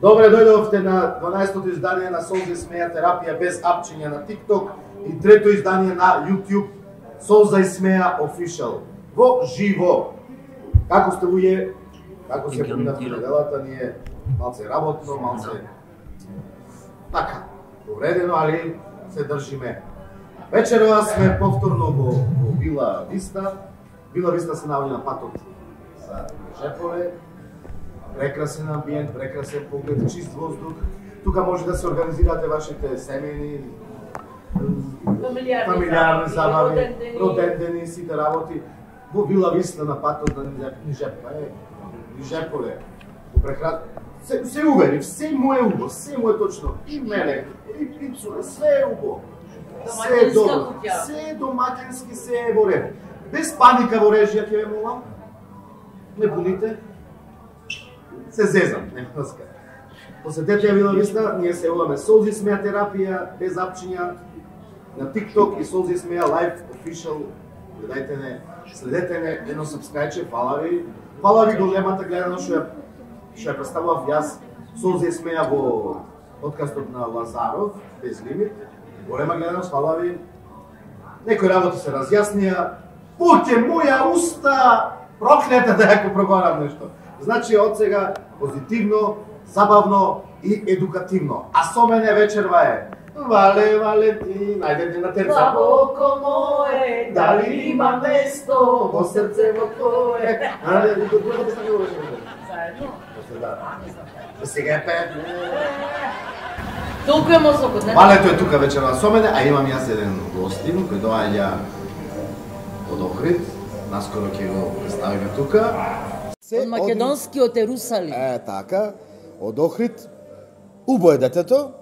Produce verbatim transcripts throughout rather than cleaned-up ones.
Добре дојдовте на дванаесетото издание на Солза и смеја терапија без апчиња на TikTok и трето издание на YouTube Солза и смеја Official. Во живо. Како сте луѓе? Како се поминавте неделата? Ние малце работно, малце така, повредено, али се држиме. Вечерва сме повторно во, во Вила Виста. Вила Виста се наоѓа на патот за Жепове. Прекрасен амбиент, прекрасен поглед, чист воздух. Тука може да се организирате вашите семејни, фамилиарни забави, родендени, сите работи. Во Вила Виста на патот на Жепове. Жепове. Се, се увери, се му е убо, се му е точно. И мене, и пицуре, се е убо. Се е добро, се е домакински, се е во ред. Без паника во режија, ќе ве молам. Не буните. Се зезам, нема да скажам. Посетете ја Вила Виста, ние се јавуваме Солза и смеја терапија, без апчиња, на TikTok и Солза и смеја Live Official. Гледајте не, следете не, едно сабскрајче, фала ви. Фала ви големата гледано што ја што ја представував јас Солза и смеја во подкастот на Лазаров, без лимит. Голема гледаност, фала ви. Некои работи се разјаснија. Пуќе моја уста! Проклета да ја проговарам нешто. Значи, од сега позитивно, забавно и едукативно. А со мене вечерва е Вале Валентин, ајде на терца. Слабоко мое, дали има место во срце во твое. Ајде, друго да стане во заедно. Сега е пет. Толку е мозокот, не? Валето е тука вечерва со мене, а имам јас еден гостин кој доаѓа од Охрид. Наскоро ќе го представиме тука. Од македонскиот Ерусалим. Е, така, од Охрид. Убо е детето,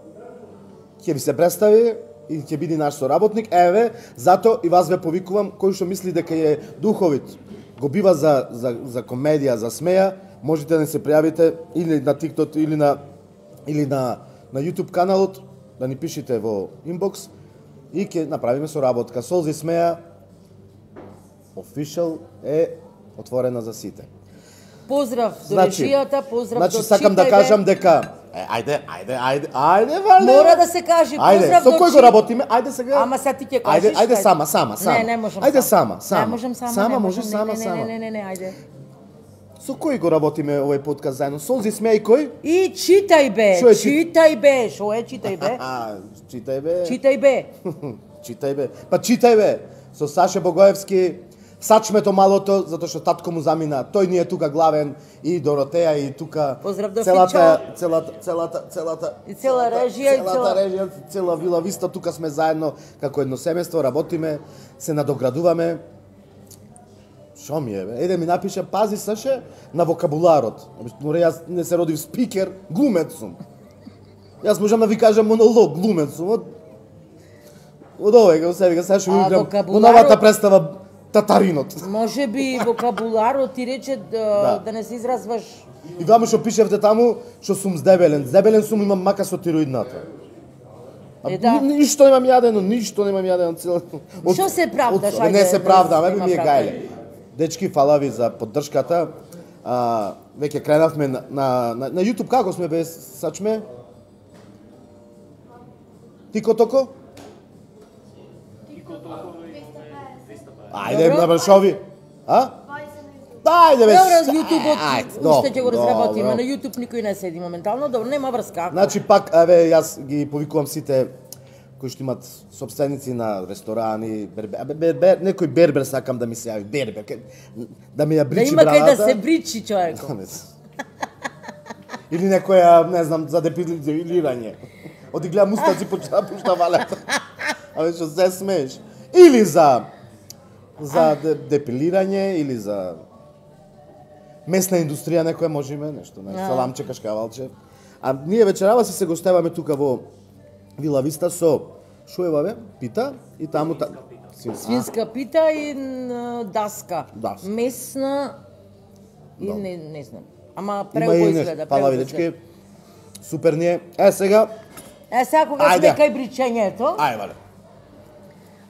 ќе ви се представи и ќе биде наш соработник. Еве, зато и вас ве повикувам, кој што мисли дека е духовит, го бива за, за, за комедија, за смеја, можете да се пријавите или на TikTok, или на, или на, на YouTube каналот, да ни пишете во инбокс и ќе направиме соработка. Солза и смеја Official е отворена за сите. Поздрав до Значи, режијата, поздрав значи, до сакам да читајте. кажам дека е, ајде, ајде, ајде, ајде, Вале. Мора да се каже, Ајде, поздрав со до кој го чи- работиме? Ајде сега. Ама сега ти ќе кажеш. Ајде, ајде ајде. сама, сама, сама. Не, не можам Ајде сама, сама. Не можам сама. Сама не може, можам, сама, не, не, сама. Не, не, не, не, ајде. Со кој го работиме овој подкаст заедно? Солза и смеја и кој? И читај бе, Шо е чит- читај бе, шо е читај бе? А, читај бе. Читај бе. Читај бе. Па читај бе. Со Саше Богоевски, Сачмето малото, затоа што татко му замина. Тој ни е тука главен и Доротеја и тука Поздрав до целата, Фичо. целата, целата, целата, И цела режија, и целата цела- режија, цела Вила Виста, тука сме заедно како едно семејство, работиме, се надоградуваме. Шо ми е, бе? Еде ми напиша, пази Саше на вокабуларот. Море, јас не се родив спикер, глумец сум. Јас можам да ви кажам монолог, глумец сум. Од, од овој, како се вика, сега што А ви играм во вокабуларот- новата представа Татаринот. Може би вокабуларот ти рече да, Да. да не се изразваш. И ваме што пишевте таму, што сум здебелен. Здебелен сум, имам мака со тироидната. А Е, да. ни- ништо немам јадено, ништо немам јадено цел. од- Шо се правдаш, од- ајде, Не се да правдам, се еве ми е има гајле. Дечки, фала ви за поддршката. А, веќе кренавме на, на, на, на YouTube, како сме без Сачме? Тико токо? Ајде, Добро. набршови. А? Ајде бе. Добро, ста- YouTube-от ајде, уште добро, ќе го разработиме. добро. На YouTube никој не седи моментално, добро, нема врска. Значи пак, еве, јас ги повикувам сите кои што имат собственици на ресторани, бербер, абе, бербер, некој бербер сакам да ми се јави, бербер, ке- да ми ја Да бричи има кај брадата. да се бричи човеко. Или некоја, не знам, за депилирање. Оди гледам устаци почна пушта валета. Абе, што се смееш. Или за за де, депилирање, или за месна индустрија, некоја можеме, нешто, не, А. саламче, кашкавалче. А ние вечерава си се гостеваме тука во Вила Виста со шуева бе, пита и таму та... Свин- Свинска пита и н, даска. Даска. Месна и не, не знам. Ама Има преубо и изгледа. нешто, пала преубо видечки. изгледа. Супер ни е. Е, сега, Е, сега кога Ајде. сме кај бричењето, ај, вале.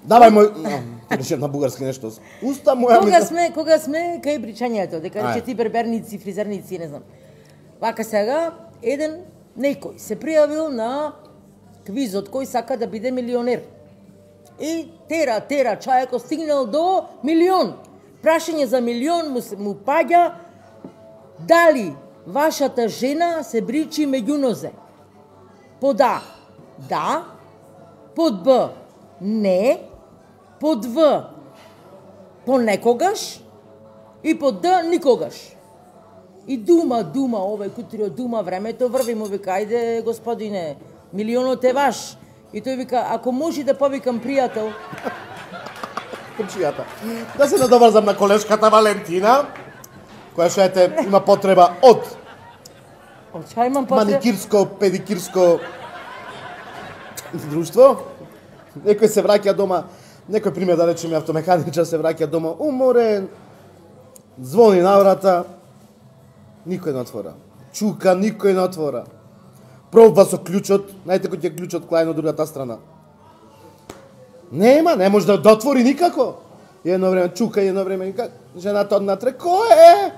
Давај мој... Рече на бугарски нешто. Уста моја кога ми... сме, кога сме кај бричењето, дека Ајде. рече ти берберници, фризерници, не знам. Вака сега, еден некој се пријавил на квизот кој сака да биде милионер. И тера, тера, чајако стигнал до милион. Прашање за милион му, му паѓа дали вашата жена се бричи меѓу нозе. Под А, да. Под Б, не. Под В, понекогаш. И под Д, никогаш. И дума, дума, овој кутрио, дума, времето врви, му вика, ајде, господине, милионот е ваш. И тој вика, ако може да повикам пријател. Комшијата. Да се надоврзам на колешката Валентина, која што ете има потреба од Од чај имам потреба? маникирско, педикирско друштво. Некој се враќа дома, некој пример да речеме автомеханичар се враќа дома уморен, звони на врата, никој не отвора. Чука, никој не отвора. Пробва со клучот, знаете кој ќе клучот клај на другата страна. Нема, не може да отвори никако. И едно време чука, и едно време вика, жената однатре, кој е?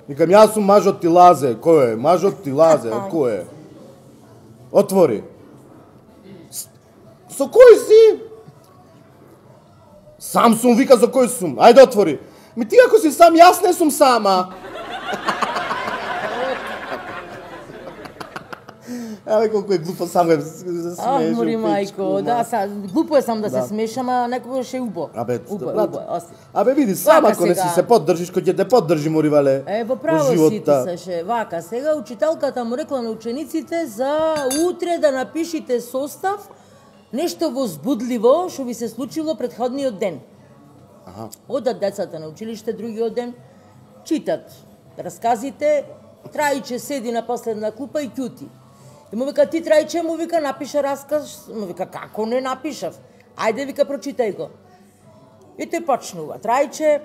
Викам, јас сум мажот ти лазе, кој е? Мажот ти лазе, кој е? Отвори. Со кој си? Сам сум, вика, со кој сум? Ајде отвори. Ми ти ако си сам, јас не сум сама. Еве колку е глупо сам го се Ах, смееш. мори мајко, да, са, глупо е сам да се смешам, а некогаш е убо. Абе, убо, брат, убо, ости. Абе види, сам Вака ако не си сега. се поддржиш, кој ќе те поддржи, моривале. Е, во право си ти Саше, вака, сега учителката му рекла на учениците за утре да напишите состав нешто возбудливо што ви се случило претходниот ден. Аха. Одат децата на училиште другиот ден, читат расказите, Трајче седи на последна клупа и ќути. И му вика, ти Трајче, му вика, напиша расказ, му вика, како не напишав? Ајде, вика, прочитај го. И тој почнува. Трајче,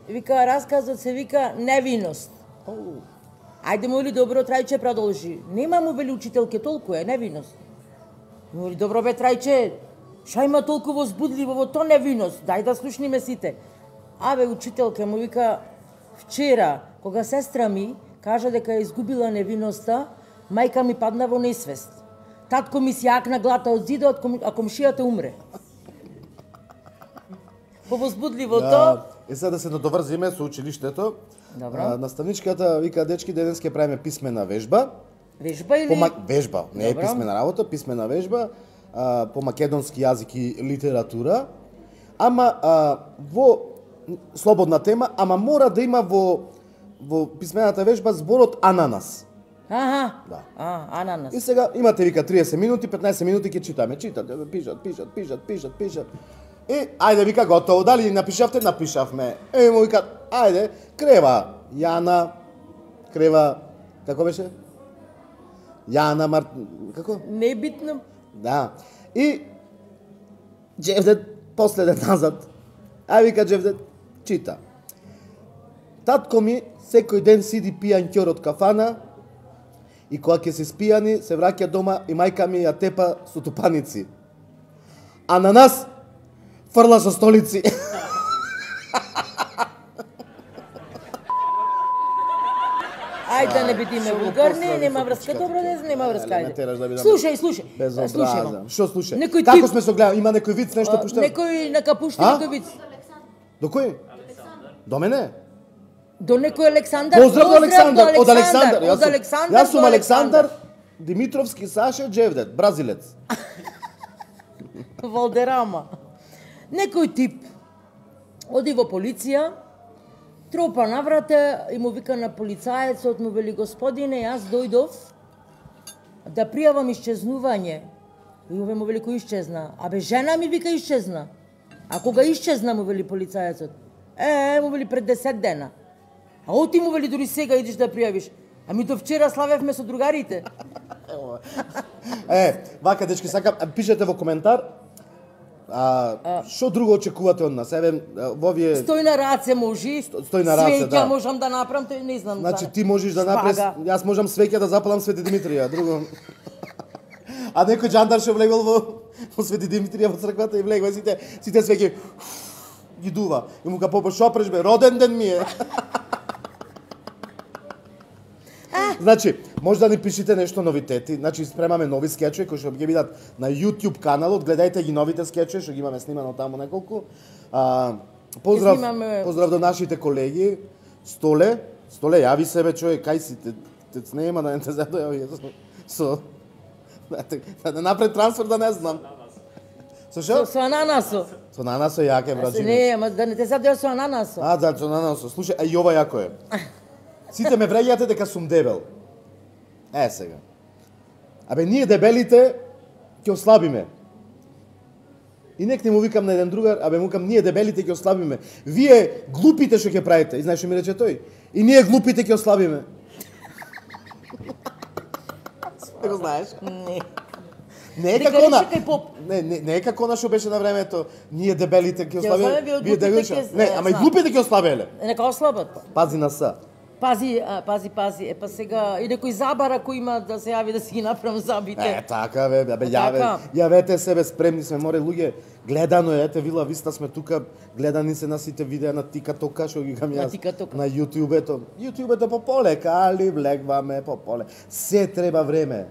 вика, расказот се вика невиност. Ајде, му вели, добро, Трајче, продолжи. Нема му вели учителке, толку е невиност. Му вели, добро бе, Трајче, ша има толку возбудливо во то невиност, дај да слушниме сите. Абе, учителке, му вика, вчера, кога сестра ми кажа дека е изгубила невиноста, мајка ми падна во несвест. Татко ми си јакна глата од зидот, а комшијата умре. Повозбудливото. Да, е сега да се надоврзиме со училиштето. Добро. А, наставничката вика, дечки, денес ќе правиме писмена вежба. Вежба или? По вежба, не е Добро. писмена работа, писмена вежба а, по македонски јазик и литература. Ама а, во слободна тема, ама мора да има во во писмената вежба зборот ананас. Аха. Да. А, ананас. И сега имате вика триесет минути, петнаесет минути ќе читаме. Читат, пишат, пишат, пишат, пишат, пишат. И ајде вика готово, дали напишавте? Напишавме. Е, му вика, ајде, крева Јана, крева, како беше? Јана Мар... како? Не е битно. Да. И Джевдет последен назад. Ај вика Джевдет, чита. Татко ми секој ден сиди пијан ќор од кафана и кога ќе се спијани, се враќа дома и мајка ми ја тепа со тупаници. А на нас фрла со столици. Ајде да не бидиме Шо го вулгарни, послали нема со врска, пичката добро ти? не, нема врска, Еле, ме ајде. тераш да бидам Слушај, слушај. Безобразен. Што слушај? Некој Како тип- сме со гледа, има некој виц, нешто пушта? Некој нека пушти А? некој виц. До кој? До мене? До некој Александар. Поздрав до Александар, од Александар. Од Јас сум- Александар. Јас сум до Александар Димитровски Саше Джевдет, бразилец. Валдерама. Некој тип оди во полиција, тропа на врата и му вика на полицаецот, му вели, господине, јас дојдов да пријавам исчезнување. И овој му вели, кој исчезна? Абе, жена ми вика исчезна. А кога исчезна, му вели полицаецот? Е, му вели пред десет дена. А оти му вели, дури сега идиш да пријавиш. Ами до вчера славевме со другарите. Е, вака дечки, сакам, пишете во коментар. А што друго очекувате од нас? Еве во овие Стој на раце можи. стој на раце, Свеќа да. можам да направам, тој не знам. Значи за- ти можеш да направиш, шпага. јас можам свеќа да запалам Свети Димитрија, друго. А некој џандар ше влегол во, во Свети Димитрија во црквата и влегол сите сите свеќи ги дува. И му ка попо шо преш бе, роден ден ми е. Значи, Може да ни пишете нешто новитети, значи спремаме нови скечови кои што ќе бидат на YouTube каналот, гледајте ги новите скечови што ги имаме снимано таму неколку. А, поздрав, снимаме... поздрав до нашите колеги. Столе, Столе, јави себе човек, кај си, те, те, те нема да не те задојави со... Да не напред трансфер да не знам. Со шо? Со, со ананасо. Со ананасо јаке, браџиме. Не, ама да не те задоја со ананасо. А, да, со ананасо. Слушај, а и ова јако е. Сите ме вреѓате дека сум дебел. Е, сега. Абе, ние дебелите ќе ослабиме. И нек не му викам на еден другар, абе му викам, ние дебелите ќе ослабиме. Вие глупите што ќе правите. И знаеш што ми рече тој? И ние глупите ќе ослабиме. Не го знаеш? Не. Не е како на... Не, не, не е како на што беше на времето. Ние дебелите ќе ослабиме. Вие дебелите. Не, ама и глупите ќе ослабеле. Нека ослабат. Пази на са. Пази, а, пази, пази. Е, па сега, и некој забара кој има да се јави да си ги направам забите. Е, така, бе, бе, јаве, Така. јавете себе, спремни сме, море, луѓе, гледано е, ете, Вила Виста сме тука, гледани се на сите видеа на Тикатока, што ги гам На јас, Тикатока. на Јутјубето. Јутјубето по полека, али влегваме по поле. Се треба време.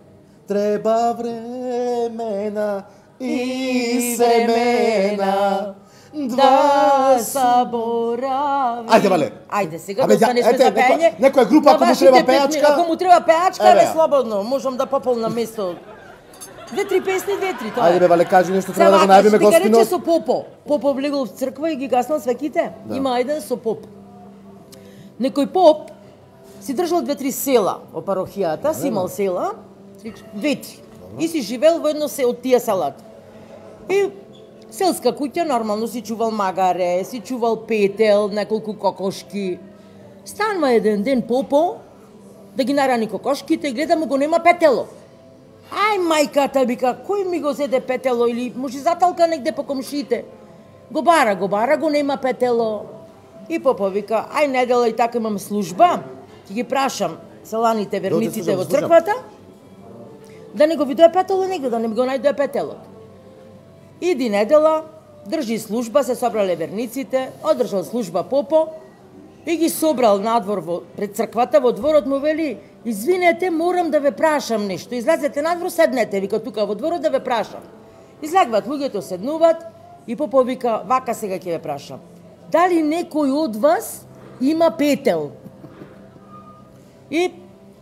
Треба времена и семена. Да заборави. Ајде, бале. Ајде, сега Абе, да останешме ете, за некоја- пење. некоја група, ако му вашите треба пет минути. пејачка- Ако му треба пејачка, Еве бе ја. слободно, можам да пополнам место. Две-три песни, две-три, тоа е. Ајде, бе, бале, кажи нешто, треба да го Сега, најавиме што дека рече гостинот. со попо. Попо влегол в црква и ги гаснал свеките. Има еден со поп. Некој поп си држал две-три села во парохијата, си имал села, две-три. И си живел во едно се од тие селата. И селска куќа, нормално си чувал магаре, си чувал петел, неколку кокошки. Станува еден ден попо да ги нарани кокошките и гледа му го нема петело. Ај мајката, вика, кој ми го зеде петело или може заталка негде по комшите. Го бара, го бара, го нема петело. И попо вика, ај недела и така имам служба, ќе ги прашам селаните верниците слушам, во слушам. црквата, да не го видое петело негде, да не ми го најдое петелот. Иди недела, држи служба, се собрале верниците, одржал служба попо и ги собрал надвор во, пред црквата, во дворот му вели, извинете, морам да ве прашам нешто, излезете надвор, седнете, вика тука во дворот да ве прашам. Излегват луѓето, седнуват и попо вика, вака сега ќе ве прашам. Дали некој од вас има петел? И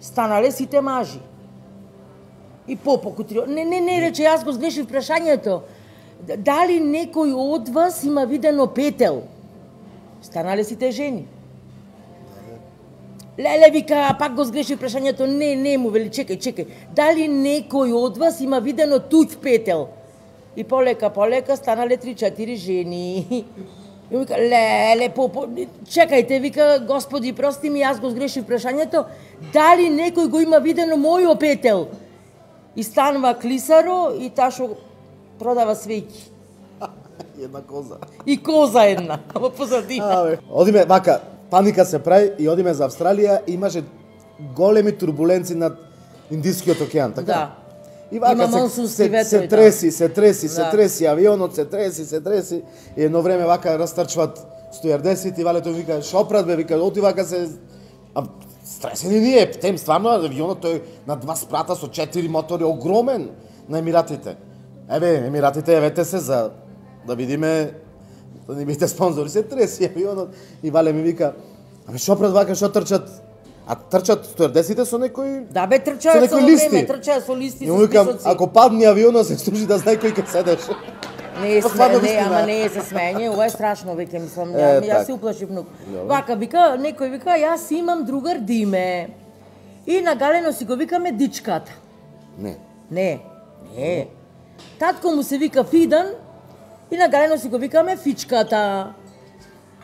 станале сите мажи. И попо кутрио, не, не, не, рече, јас го сгрешив прашањето. Дали некој од вас има видено петел? Станале сите жени. Леле, вика, пак го сгрешив прашањето. Не, не, му вели, чекај, чекај. Дали некој од вас има видено туѓ петел? И полека, полека станале три-четири жени. И вика, леле, попо, чекајте, вика, господи, прости ми, јас го сгрешив прашањето. Дали некој го има видено мојо петел? И станува клисаро и таа што продава свеќи. Една коза. И коза една, во позадина. Абе, одиме, вака, паника се прави и одиме за Австралија, имаше големи турбуленци над Индискиот океан, така? Да. И вака Има се, монсунски се, ветрови, се да. треси, се треси, се Да. треси, авионот се треси, се треси. И едно време вака растрчват стојардесет и валето вика, шопрат бе, вика, оти вака се... А, стресени ние, тем стварно авионот тој на два спрата со четири мотори, огромен на Емиратите. Еве, Емиратите, евете се за да видиме, да ни бидете спонзори, се треси авионот и Вале ми вика, абе шопрат вака, што трчат? А трчат стојардесетите со некој... Да бе, Со трчаат некои со листи. време, трчаат со листи, И со му викам, списоци. ако падне авионот, се служи да знае кој ќе седеш. Не е Па сме, стварно не, вистина. ама не е се смење, ова е страшно, веќе мислам, Е, ја, јас так. се уплашив многу. Добро. Вака, вика, некој вика, јас имам другар Диме. И нагалено си го викаме дичката. Не. Не, не. Татко му се вика Фидан и нагалено си го викаме Фичката.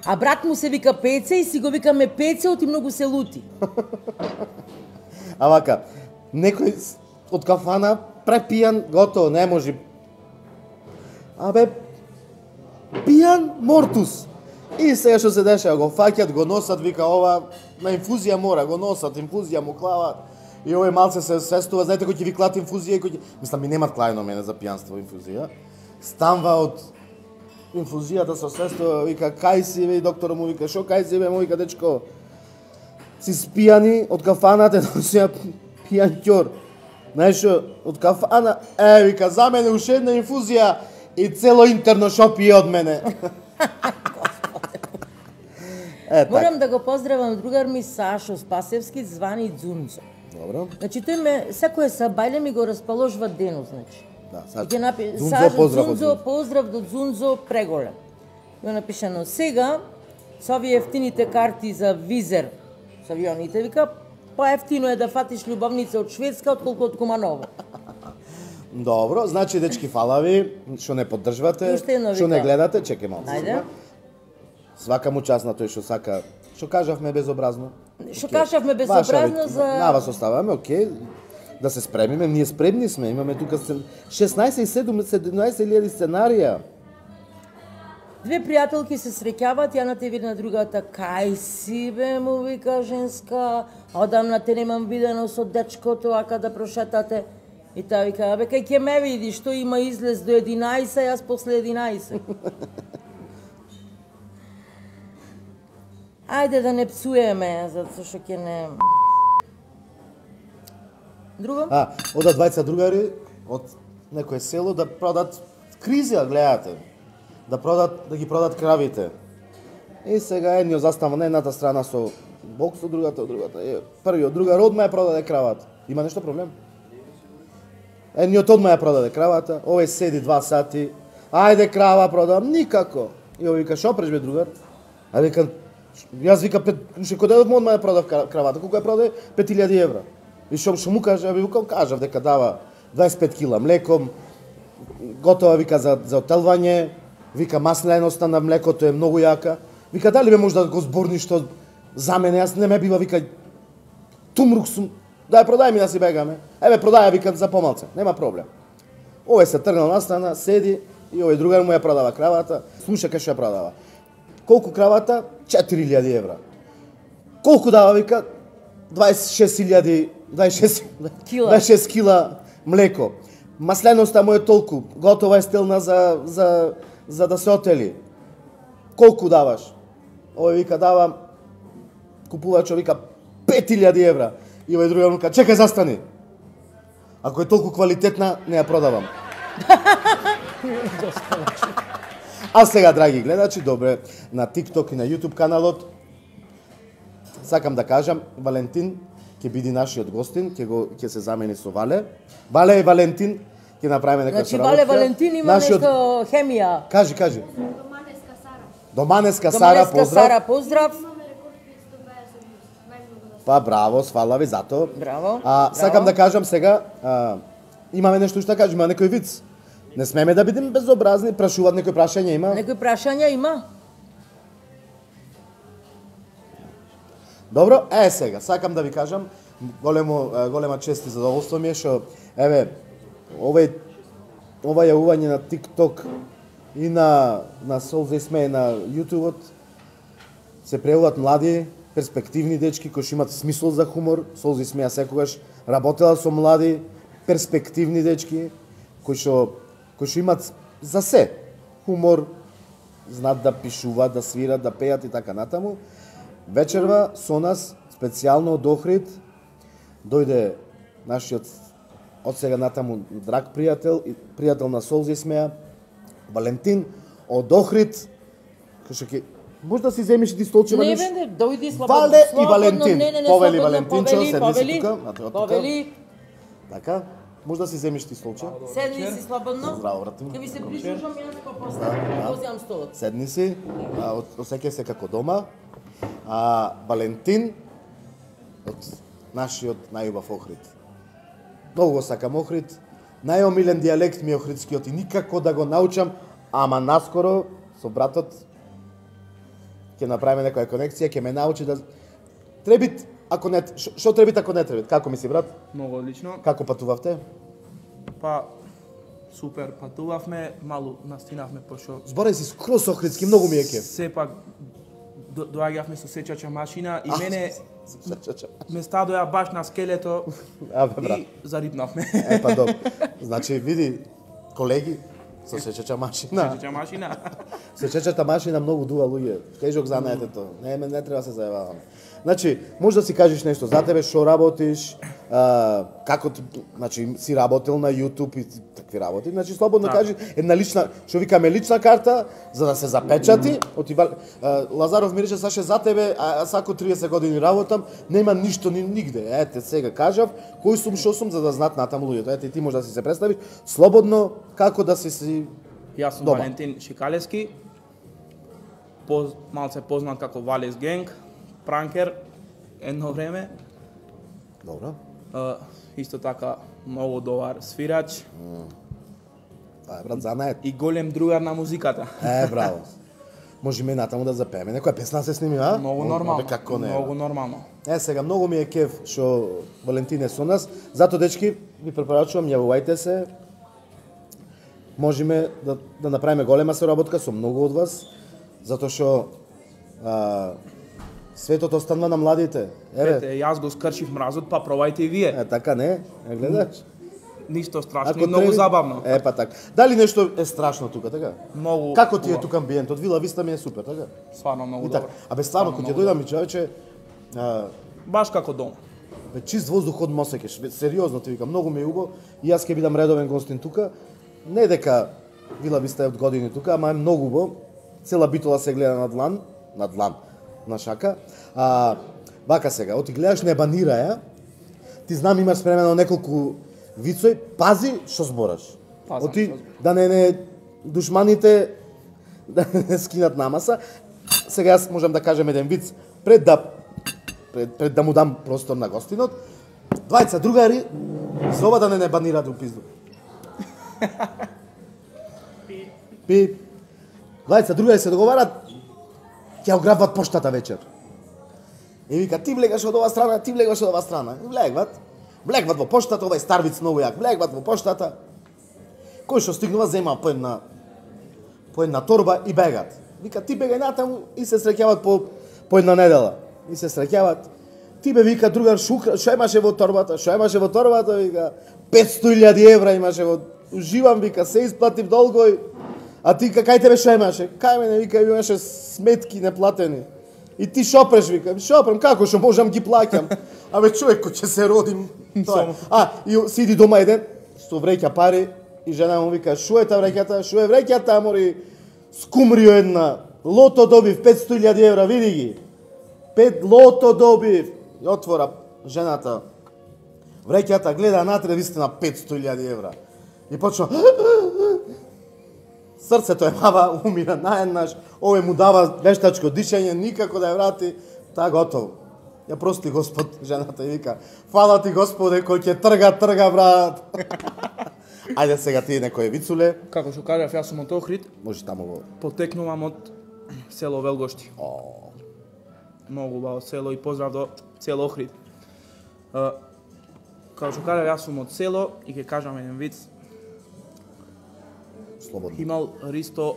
А брат му се вика Пеце и си го викаме Пеце, оти многу се лути. А вака, некој с- од кафана препијан, готово, не може. Абе, пијан мортус. И сега што се дешава, го фаќат, го носат, вика ова, на инфузија мора, го носат, инфузија му клават. И овој малце се свестува, знаете кој ќе ви клат инфузија и кој ќе... Мислам, ми немат клајно мене за пијанство инфузија. Станва од инфузијата со свестува, вика, кај си, бе, и доктора му вика, шо кај си, бе, му вика, дечко, си спијани од кафаната, носија јанќор. Знаеш што, од кафана, е, вика, за мене уште една инфузија и цело интерно шопи од мене. Е, Морам да го поздравам другар ми Сашо Спасевски, звани Дзунзо. Добро. Значи тој ме секое сабајле ми го расположува денот, значи. Да, Сашо. Ќе напи... Дзунзо, Сашо, поздрав од Дзунзо, Дзунзо. поздрав до Дзунзо, преголем. Го напишано сега, со овие ефтините карти за визер, со авионите, вика, поевтино е да фатиш љубовница од Шведска, отколку од Куманово. Добро, значи дечки фала ви, што не поддржувате, Уште едно што не вика. гледате, чекај малку. Ајде. Свака му част на тој што сака. Што кажавме безобразно? Што Окей. кажавме Ваша безобразно ви- за... На вас оставаме, окей. Да се спремиме, ние спремни сме, имаме тука се- шеснаесет и седумнаесет илјади сценарија. Две пријателки се среќаваат, ја на те види на другата, кај си бе, му вика женска, одамна те немам видено со дечкото, ака да прошетате. И таа вика, бе, кај ќе ме види, што има излез до единаесет, јас после единаесет. Ајде да не псуеме, затоа што ќе не... Друго? А, одат двајца другари од некое село да продат кризија, гледате. Да продат, да ги продат кравите. И сега едниот застава на едната страна со бокс, од другата од другата. Е, првиот другар одма ја продаде кравата. Има нешто проблем? Едниот одма ја продаде кравата, овој седи два сати. Ајде крава продавам, никако. И овој вика, шо преш бе другар? А вика, јас вика, пет, ше кога дедов одма ја продав кравата, колку ја продаде? пет илјади евра. И што што му кажа, би викам, кажав дека дава дваесет и пет кила млеко, готова вика за за отелвање, вика масленоста на млекото е многу јака. Вика дали бе може да го зборниш што за мене, јас не ме бива вика тумрук сум. Дај продај ми да си бегаме. Еве продаја вика за помалце, нема проблем. Овој се тргнал настана, седи и овој другар му ја продава кравата, слуша кај што ја продава. Колку кравата? четири илјади евра. Колку дава вика? дваесет и шест илјади, дваесет и шест Кила. дваесет и шест кила млеко. Масленоста му е толку, готова е стелна за за за да се отели. Колку даваш? Овој вика дава купувачот вика пет илјади евра. И овој другиот му ка чекај застани. Ако е толку квалитетна, не ја продавам. А сега, драги гледачи, добре, на TikTok и на YouTube каналот, сакам да кажам, Валентин ќе биде нашиот гостин, ќе го ќе се замени со Вале. Вале и Валентин ќе направиме некоја Значи, Вале Валентин има Нашиот- нешто хемија. Кажи, кажи. Доманеска Сара. Доманеска Сара, Доманеска поздрав. Сара, поздрав. Имаме рекорд петстотини и дваесет вјуз. Најмногу да Па браво, свала ви за тоа. Браво. А, сакам браво. да кажам сега, а, имаме нешто што да кажеме, има некој виц. Не смеме да бидеме безобразни, прашуваат некој прашање има. Некои прашања има? Добро, е сега, сакам да ви кажам, големо е, голема чест и задоволство ми е што еве овој ова јавување на TikTok и на на Солза и Смеј на YouTube се преуват млади, перспективни дечки кои што имаат смисол за хумор. Солза и Смеја секогаш работела со млади, перспективни дечки кои што кои што имаат за се хумор, знаат да пишуваат, да свират, да пеат и така натаму. Вечерва со нас, специјално од Охрид, дојде нашиот од сега натаму драг пријател, и пријател на Солза и Смеја, Валентин од Охрид, кој што ќе може да си земиш ти столче Не, веднаш? бе, не, дојди слободно. Вале и слободно, Валентин. Не, не, не, Повели слободно, Валентинчо, повели, седни си повели, тука, на тоа тука. Повели, Така, може да си земиш ти столче. седни си слободно. Здраво, брате ми. Ќе ви се прислушам јас па после. да. Возјам столот. Седни си, а, од- осеќај се како дома. А Валентин од нашиот најубав Охрид. Многу го сакам Охрид. Најомилен дијалект ми е охридскиот и никако да го научам, ама наскоро со братот ќе направиме некоја конекција, ќе ме научи да требит ако не ш- што требит ако не требит. Како мисли брат? Многу одлично. Како патувавте? Па супер патувавме, малу настинавме пошто Збореј си скроз охридски, многу ми е кеф. сепак до- доаѓавме со сечача машина и А, мене Ча-ча-ча. ме стадоја баш на скелето А, бе, брат. и зарипнавме. Е, па добро. Значи, види, колеги, со сечача машина. Сечача машина. Сечачата машина многу дува луѓе. Тежок занаетето. Не, ме не треба да се зајававам. Значи, може да си кажеш нешто за тебе, што работиш, а, како ти, значи, си работел на YouTube и такви работи. Значи, слободно Да. кажи една лична, што викаме лична карта, за да се запечати. Оти, а, Лазаров ми рече, Саше, за тебе, а, а сако триесет години работам, нема ништо ни нигде. Ете, сега кажав, кој сум, што сум, за да знаат натаму луѓето. Ете, ти може да си се представиш слободно како да си си Јас сум дома. Валентин Шикалевски, поз, малце познат како Валес Генг, пранкер, едно време. Добро. Uh, исто така многу добар свирач Тоа е, брат, занает. и голем другар на музиката. Е, браво. Можеме натаму да запееме. Некоја песна се сними, а? Многу О, нормално. бе, како не? Многу нормално. Е, сега, многу ми е кеф што Валентин е со нас. Зато, дечки, ви препорачувам, јавувајте се. Можеме да, да направиме голема соработка со многу од вас, затоа што а, светот останува на младите. Еве, Ете, јас го скршив мразот, па пробајте и вие. е, така не? Е, гледаш? Ништо страшно Ако и многу треби- забавно. Е, па така. Дали нешто е страшно тука, така? Многу. Како ти е убаво. тука амбиентот? Вила Виста ми е супер, така? Стварно многу И така. добро. Абе, стварно, кога ќе многу дојдам ми човече, а, Баш како дома. бе, чист воздух од Мосекеш. Бе, сериозно ти викам, многу ми е убаво. И јас ќе бидам редовен гостин тука. Не дека Вила Виста е од години тука, ама е многу убаво. Цела Битола се гледа на длан, на длан, на шака. А, вака сега, оти гледаш Небанира ја, ти знам имаш спремено неколку вицој, пази што збораш. Пазам Оти што зборам. да не не душманите да не скинат намаса. Сега јас можам да кажем еден виц пред да пред, пред да му дам простор на гостинот. Двајца другари за ова да не не банираат у пизду. Пип. Двајца другари се договарат ќе ограбват поштата вечер. И вика, ти влегаш од ова страна, ти влегаш од ова страна. И влегват. Влегват во поштата, овај старвиц многу јак. Влегват во поштата. Кој што стигнува зема по една по една торба и бегат. Вика, ти бегај натаму и се среќават по по една недела. И се среќават. Ти бе вика другар шука, што имаше во торбата? Што имаше во торбата? Вика, петсто илјади евра имаше во. Уживам, вика, се исплатив долгој. А ти кај тебе што имаше? Кај мене, вика, имаше сметки неплатени. И ти шопреш, вика, шопрем, како што можам ги плаќам? Абе, човек, кој ќе се родим, тоа е. А, и сиди дома еден, со вреќа пари, и жена му вика, шо е та вреќата, шо е вреќата, мори, скумрио една, лото добив, петсто илјади евра, види ги. Пет лото добив. И отвора жената вреќата, гледа натре, вистина петсто илјади евра. И почна, срцето е мава, умира наеднаш, овој му дава вештачко дишење, никако да ја врати, та готово. Ја прости Господ, жената и вика, фала ти Господе, кој ќе трга, трга, брат. Ајде сега ти некој вицуле, Како што кажав, јас сум од Охрид, може таму го... потекнувам од село Велгошти. Многу убаво село и поздрав до цело Охрид. Uh, Како што кажав, јас сум од село и ќе кажам еден виц. Слободно. Имал Ристо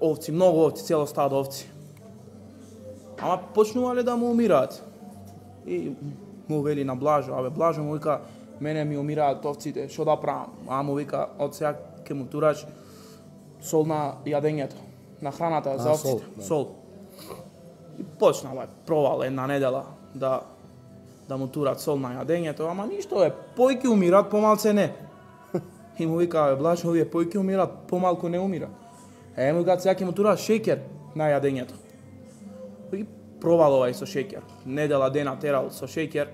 овци, многу овци, цело стадо овци. Ама почнувале да му умираат. И му вели на Блажо, абе Блажо му вика, мене ми умираат овците, што да правам? А му вика, од сега ќе му тураш сол на јадењето, на храната за А, овците, сол, да. сол. И почна, бе, провал една недела да да му турат сол на јадењето, ама ништо е, појки умираат, помалце не. И му вика, бе, Блажо, овие појки умираат, помалку не умира. Е, му вика, сега ќе му тураш шеќер на јадењето. И провал овај со шеќер. Недела дена терал со шеќер.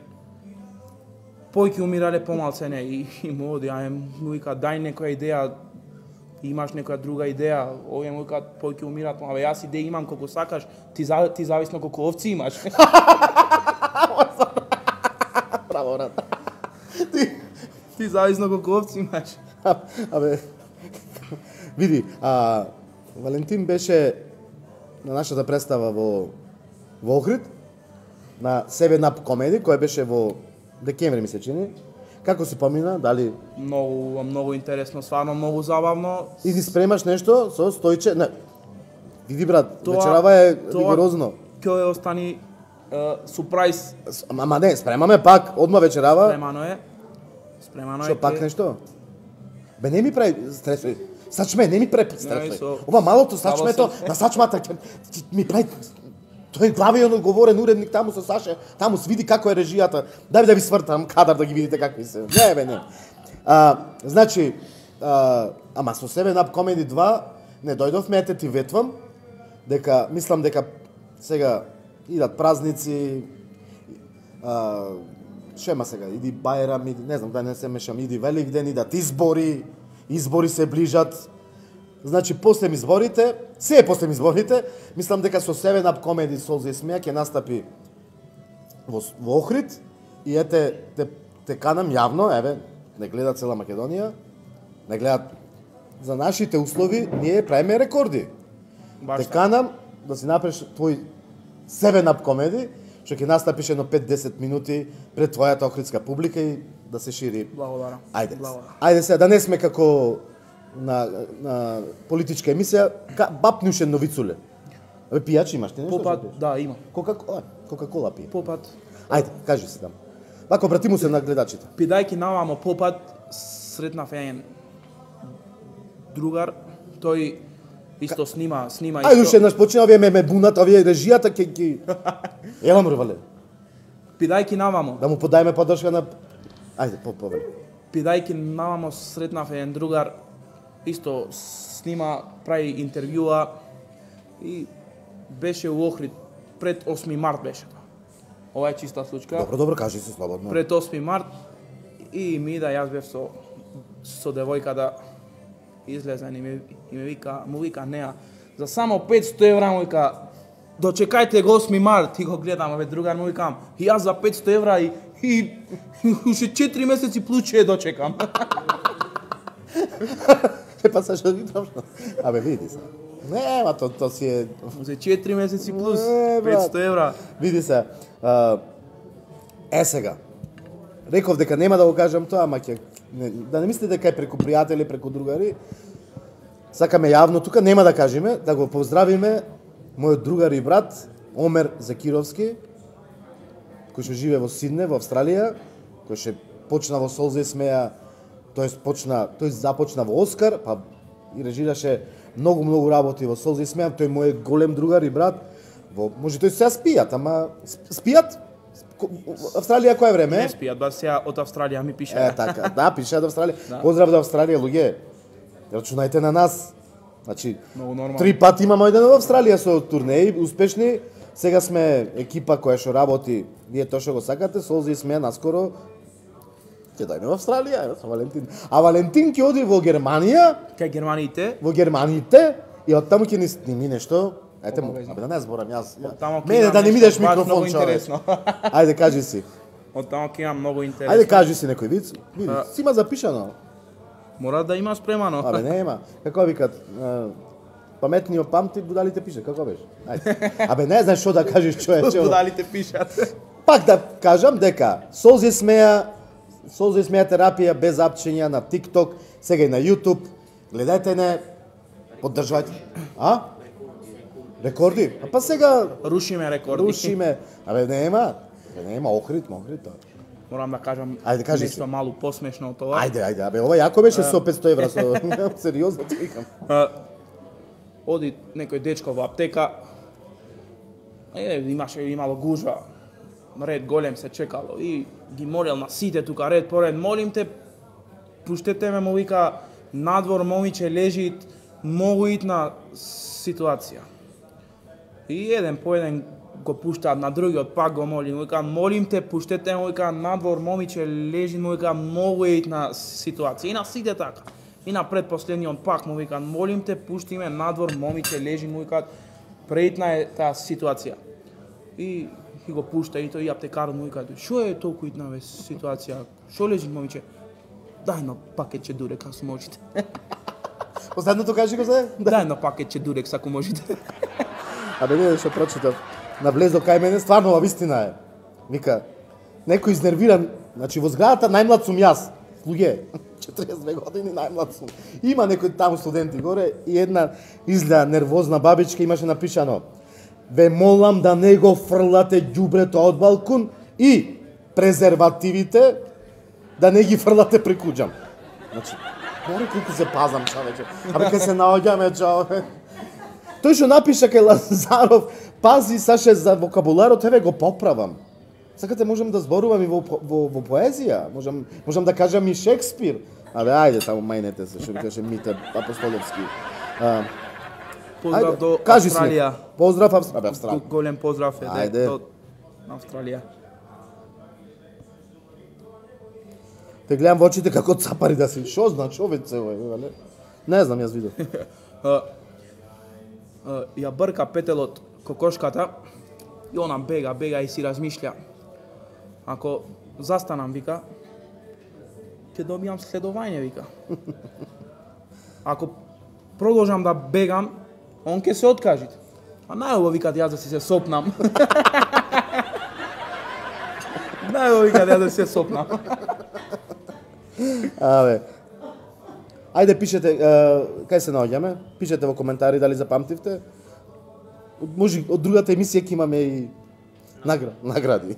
Појки умирале, помалце не. И, и му оди, а му вика, дај некоја идеја, имаш некоја друга идеја. Овие му вика, појки умираат, абе јас идеја имам колку сакаш, ти, за, ти зависно колку овци имаш. Браво, брат. Ти зависно колку овци имаш. Абе, види, а, Валентин беше на нашата представа во, во Охрид, на Seven Up Comedy, која беше во декември, ми се чини. Како си помина, дали... Многу, многу интересно, стварно многу забавно. И ти спремаш нешто со Стојче... Не, види, брат, вечерава е ригорозно. Ќе остани е, супрајз. Ама не, спремаме пак, одма вечерава. Спремано е. Спремано е. Што, пак ќе- нешто? Бе, не ми прави стресој. Сачме, не ми прави Не, стресој. со- Ова малото сачмето, Слабо на сачмата ќе ќе ми прави... Тој главен одговорен уредник таму со Саше, таму се види како е режијата. Дај да ви свртам кадар да ги видите какви се. Не бе, не. А, значи, а, ама со Seven Up Comedy два не дојдовме, ете ти ветвам, дека, мислам дека сега идат празници, а, шема сега, иди Бајрам, иди, не знам, да не се мешам, иди Великден, идат избори, избори се ближат. Значи, после изборите, се е после изборите, мислам дека со Seven Up Comedy Солза и смеа ќе настапи во, во Охрид и ете, те, те канам јавно, еве, не гледа цела Македонија, не гледат за нашите услови, ние правиме рекорди. Баш те канам да си направиш твој Seven Up Comedy, што ќе настапиш едно пет-десет минути пред твојата охридска публика и да се шири. Благодарам. Ајде. Благодарам. Ајде сега, да не сме како на, на политичка емисија, бапнушен новицуле. Абе, пијач имаш ти нешто? Попат, да, имам. Кока-кола, Кока-кола пие. Попат. Ајде, кажи се там. Вако, обрати му се на гледачите. Пидајки навамо попат, сретнав еден другар, тој исто снима, снима Ајде, уште еднаш почина, овие ме ме бунат, овие режијата ке ги... Ела мрвале. Пидајки навамо. Да му подајме поддршка на... Ајде, по повели. Пидајки навамо сретнав еден другар, исто снима, прави интервјуа и беше у Охрид, пред осми март беше тоа. Ова е чиста случка. Добро, добро, кажи се слободно. Пред осми март и ми да јас бев со со девојка да излезен и ми, и ми вика, му вика неа, за само петсто евра му вика, дочекајте го осми март, и го гледам, бе другар му викам, и јас за петсто евра и и уште четири месеци плюс ќе дочекам. Е, па са што ги трошно. Абе, види се. Не, ма то, то си е... За четири месеци плюс Не, брат. петсто евра. Види се. А, е сега. Реков дека нема да го кажам тоа, ама ќе... Не, да не мислите дека е преку пријатели, преку другари. Сакаме јавно тука, нема да кажеме, да го поздравиме мојот другар и брат, Омер Закировски, кој што живее во Сидне, во Австралија, кој што почна во Солза и смеа, тоест почна, тој започна во Оскар, па и режираше многу многу работи во Солза и смеа, тој мој голем другар и брат. Во може тој сега спијат, ама спијат? Австралија кое време? Не спијат, ба сега од Австралија ми пише. Е, така, да, пише од Австралија. Да. Поздрав до Австралија, луѓе. Рачунајте на нас. Значи, Многу нормално. три пати имаме оден во Австралија со турнеи, успешни. Сега сме екипа која што работи, вие тоа што го сакате, Солза и смеа наскоро ќе дојде во Австралија, еве, со Валентин. А Валентин ќе оди во Германија, Кај германите, во Германите, и оттаму ќе ни сними нешто. Ете му, Обавезно. абе да не зборам јас. Оттаму ќе Мене имам да не ми нешто деш баш многу микрофон, човек. интересно. Ајде, кажи си. од таму ќе имам многу интересно. Ајде, кажи си некој виц. Види, А. си има запишано. Мора да има спремано. Абе, нема. Како викат, а, паметниот памти, будалите пише, како беше? Ајде. Абе, не знаеш што да кажеш, човече. Будалите пишат. Пак да кажам дека Солза и смеа, Солза и смеа терапија без апчења на TikTok, сега и на YouTube. Гледајте не, поддржувајте. А? Рекорди? А па сега Рушиме рекорди. рушиме. Абе, нема. Абе, нема Охрид, Охрид. тоа. Морам да кажам Ајде, кажи нешто си. малку посмешно од тоа. Ајде, ајде, абе, ова јако беше со петсто евра, со... сериозно ти викам. А, оди некој дечко во аптека. Е, имаше имало гужва. Ред голем се чекало и ги молел на сите тука ред по ред. Молим те, пуштете ме, му вика, надвор момиче лежи, многу итна ситуација. И еден по еден го пуштаат на другиот, пак го молим, му вика, молим те, пуштете ме, му вика, надвор момиче лежи, му вика, многу итна ситуација. И на сите така. И на предпоследниот пак му вика, молим те, пушти ме, надвор момиче лежи, му вика, преитна е таа ситуација. И и го пушта и тој и аптекарот му вика, шо е толку итна бе ситуација? Шо лежи момиче? Дај едно пакетче дурек ако можете. Последното кажи го се? Дај едно пакетче дурек ако можете. Абе, не, што прочитав. Навлез до кај мене, стварно, ова вистина е. Вика, некој изнервиран, значи во зградата најмлад сум јас. Луѓе, четириесет и две години најмлад сум. Има некој таму студенти горе и една изгледа нервозна бабичка имаше напишано: ве молам да не го фрлате ѓубрето од балкон и презервативите да не ги фрлате преку џам. Значи, горе колку се пазам, човече. Абе, кај се наоѓаме, човече. Тој што напиша кај Лазаров, Пази, Саше, за вокабуларот, еве го поправам. Сакате можам да зборувам и во, во, во поезија, можам, можам да кажам и Шекспир. Абе, ајде, таму мајнете се, што ви каже Мите Апостоловски. А, Поздрав ајде, до кажи Австралија. Си, поздрав Австралија. Австралија. Голем поздрав е Ајде. до Австралија. Те гледам во очите како цапари да си. Шо значи овој цело, не? Не знам, јас видов. А, а, ја брка петелот кокошката и она бега, бега и си размишља. Ако застанам, вика, ќе добијам следување, вика. Ако продолжам да бегам, он ќе се откажи. А најубаво, вика, јас да си се сопнам. Најубаво, вика, јас да си се сопнам. Абе. Ајде пишете, е, кај се наоѓаме? Пишете во коментари дали запамтивте. Може од другата емисија ќе имаме и награ, награди.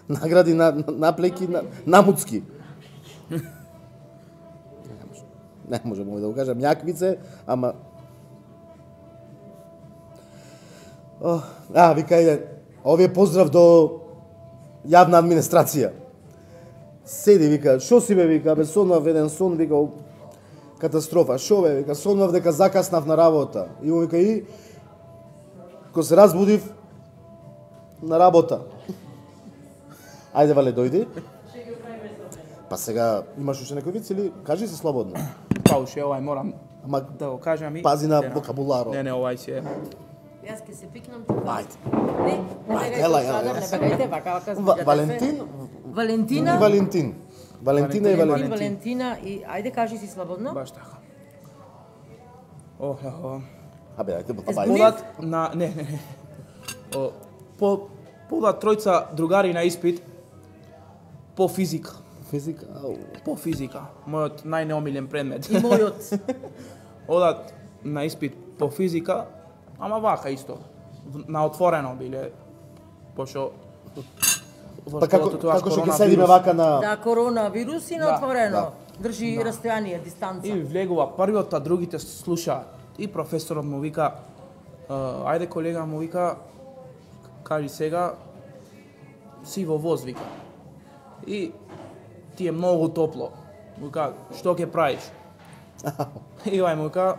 Награди на наплеки на намуцки. Не можам да го кажам јаквице, ама О, а, вика еден, овие поздрав до јавна администрација. Седи, вика, шо си бе, вика, бе, сонвав еден сон, вика, катастрофа, шо бе, вика, сонвав дека закаснав на работа. И му вика, и, ко се разбудив, на работа. Ајде, Вале, дојди. Па сега, имаш уште некој виц или кажи се слободно. Па уште овај морам Ама да го кажам и... пази на Не, вокабуларо. Не, не, овај си е... Јас ќе се пикнам тука. Ајде. Не, не Ајде, бегајте ела, од ела, сада, ела. не бегајте, вака, вака, Ва- спиѓате Валентин, се. Валентина, и Валентин. Валентина и Валентин, Валентин. Валентина и ајде кажи си слободно. Баш така. О, о, Абе, ајде, ба, Збунив? ајде. подат на... Не, не, не. О, по, подат тројца другари на испит по физика. Физика, ау. По физика. Мојот најнеомилен предмет. И мојот. Одат на испит по физика, ама вака исто. В- На отворено биле, пошо... во Па како, школото тоа како што ќе коронавирус. седиме вака на... Да, коронавирус и на Да, отворено. да. Држи растојание, дистанца. И влегува првиот, а другите слушаат. И професорот му вика, «А, ајде колега, му вика, кажи сега, си во воз, вика. И ти е многу топло. Му вика, што ќе правиш? И овај му вика,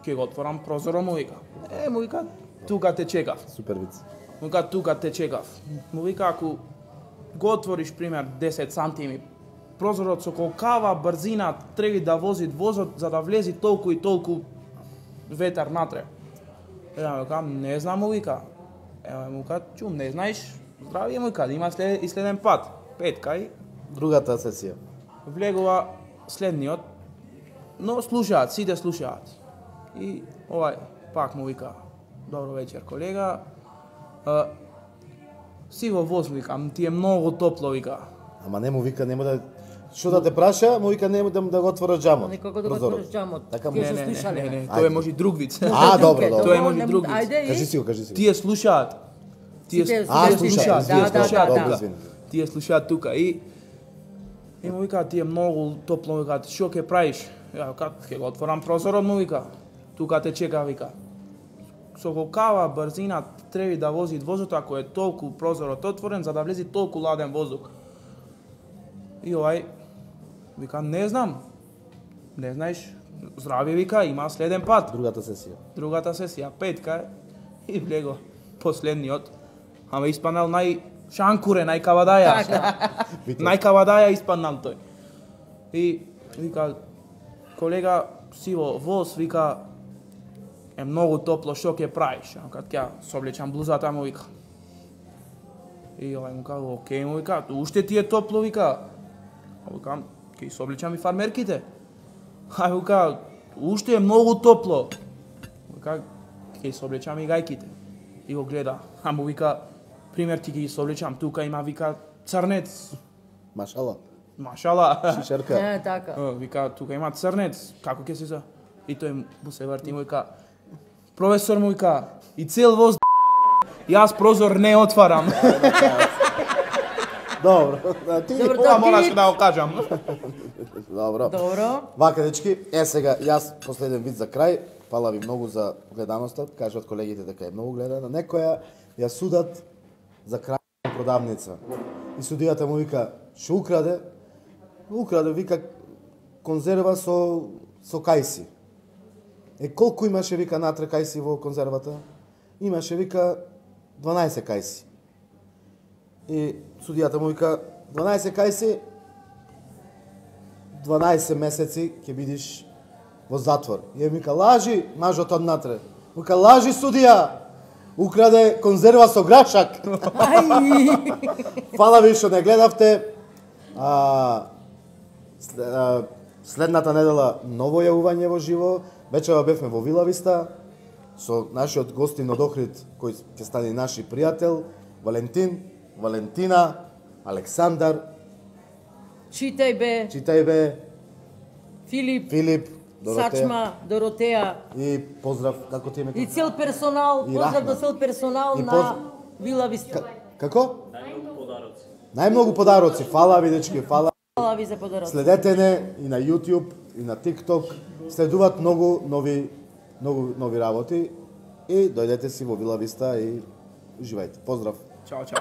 ќе го отворам прозорот, му вика. Е, му вика, тука те чекав. Супер виц. Му вика, тука те чекав. Му вика, ако го отвориш, пример, десет сантими, прозорот со колкава брзина треба да вози возот за да влези толку и толку ветар натре. Ја му викам, не знам, му вика. Ева му вика, чум, не знаеш, здравие му вика, има след, и следен пат. Петка и Другата сесија. влегува следниот, но слушаат, сите слушаат. И овај пак му вика, добро вечер колега, а, си во воз, викам, ти е многу топло, вика. Ама не му вика, нема да... Што да те праша, му вика нема да, да го отвориш джамот. Никога да го прозорот. отвориш джамот. Така му... Ќе Не, се не, не, слушале. не, не, Ајде. тоа е може друг виц. А, добро, добро. Тоа е може друг виц. Ајде, Кажи и... си го, кажи си го. Тие слушаат. Тие, Сите- А, сите слушаат, Да, да, слушаат да, тука. да. извини. Тие слушаат тука и и му вика, ти е многу топло, вика, што ќе правиш? Ја вика, ќе го отворам прозорот, му вика. Тука те чека, вика. Со колкава брзина треба да вози возот ако е толку прозорот отворен за да влези толку ладен воздух. И овај вика, не знам. Не знаеш, здраве, вика, има следен пат. Другата сесија. Другата сесија, петка е, и влего последниот. Ама испанал нај шанкуре, најкавадаја. Најкавадаја испанал тој. И вика, колега, си во воз, вика, е многу топло, што ќе правиш? А кад ќе соблечам блузата, му вика. И овај му кажа, окей, му вика, уште ти е топло, вика. А викам, ќе соблечам и фармерките. А вика, уште е многу топло. Вика, ќе соблечам и гајките. И го гледа. А му вика, пример ти ги соблечам, тука има, вика, црнец. Машала. Машала. Шишерка. Не, така. Е, вика, тука има црнец, како ќе се за... И тој му се врти, му вика, професор, му вика, и цел воз, јас прозор не отварам. Добро. Да, ти... Добро, Ова да, мораш ти- да го кажам. Добро. Добро. Вака, дечки, е сега, јас последен вид за крај. Фала ви многу за гледаноста. Кажат колегите дека е многу гледана. Некоја ја судат за крај на продавница. И судијата му вика, што украде? Украде, вика, конзерва со, со кајси. Е, колку имаше, вика, натре кајси во конзервата? Имаше, вика, дванаесет кајси. И судијата му вика, дванаесет кајси, дванаесет месеци ќе бидиш во затвор. И ми вика, лажи, мажот од натре. Вика, лажи, судија, украде конзерва со грашак. Фала ви што не гледавте. А, следната недела ново јавување во живо. Вечера бевме во Вила Виста со нашиот гостин од Охрид, кој ќе стане наши пријател, Валентин, Валентина, Александар, Читај бе, читај бе, Филип, Филип, Доротеја. Сачма, Доротеја И поздрав, како ти име? и цел персонал, И поздрав Рахман. до цел персонал И на поз- Вила Виста. Како? Најмногу подароци. Фала ви, дечки, фала. Фала ви за подарок. Следете не и на YouTube, и на TikTok. Следуваат многу нови, многу нови работи. И дојдете си во Вила Виста и уживајте. Поздрав. Чао, чао.